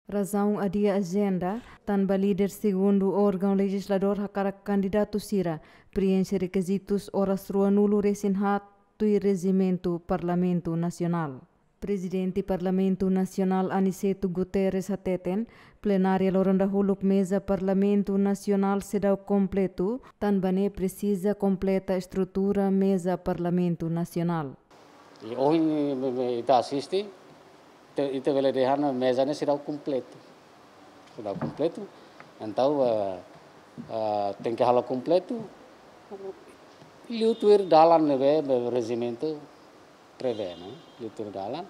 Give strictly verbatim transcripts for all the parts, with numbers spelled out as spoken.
Razaun adia ajenda, tanba líder segundu órgaun lejizladór hakarak kandidatu sira prienxe rekizitus oras ruanulu resin haat tuir rejimentu Parlamentu Nasionál. Prezidente Parlamentu Nasionál Aniceto Guterres hateten, plenária loron dahuluk meza Parlamentu Nasionál seidauk kompletu, tanba ne'e presiza kompleta estrutura meza Parlamentu Nasionál. I ohin, me, me, ita asiste, te, ita bele dehan meza ne'e seidauk kompletu. Seidauk kompletu. Entaun, eh, eh, tenke halo kompletu. Liu tuir dalan ne'ebé, be, rejimentu prevee, ne'e? Liu tuir dalan.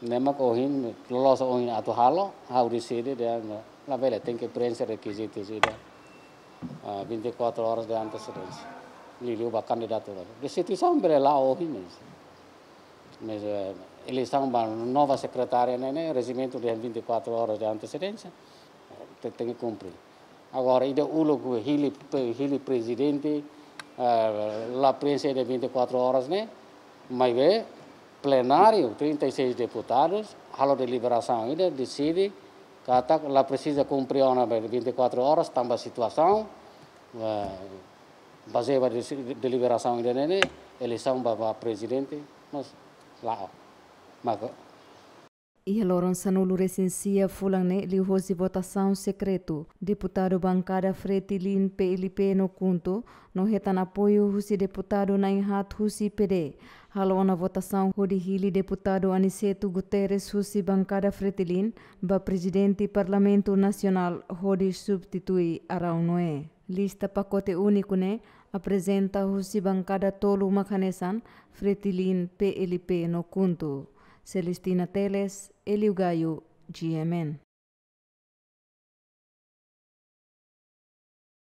Ne'e mak ohin, loloos ohin atu halo, ha'u deside dehan labele, tenke prienxe rekizitu sira. Ah, vinte e quatro horas de antecedência. Liuliu ba kandidatu. Destituisaun bele la'o ohin, mas, mas, eh, eleisaun ba nova sekretária ne'e, ne'e, rejimentu dehan vinte e quatro horas de antecedência. Te, tenke kumpre. Agora, ida uluk hili, hili prezidente, eh, la prienxe ida vinte e quatro horas ne'e, maibé plenáriu, trinta e seis deputadus, halo deliberasaun ida, deside katak la presiza kumpre ona ba vinte e quatro horas, tanba situasaun, eh, bazeia ba desi-, deliberasaun ida ne'e, eleisaun ba, ba prezidente, mas la'o. Maka Iha loron sanulu resin sia fulan ne'e liuhosi votasaun sekretu, deputadu bankada Fretilin P L P no KHUNTO, no hetan apoiu husi deputadu na'in haat husi P D, halo ona votasaun hodi hili deputadu Aniceto Guterres husi bankada Fretilin ba prezidente Parlamentu Nasionál hodi substitui Araújo Noé. Lista pakote úniku ne'e aprezenta husi bankada tolu mak hanesan Fretilin, P L P no KHUNTO. Celestina Teles, Elio Gaio, G M N.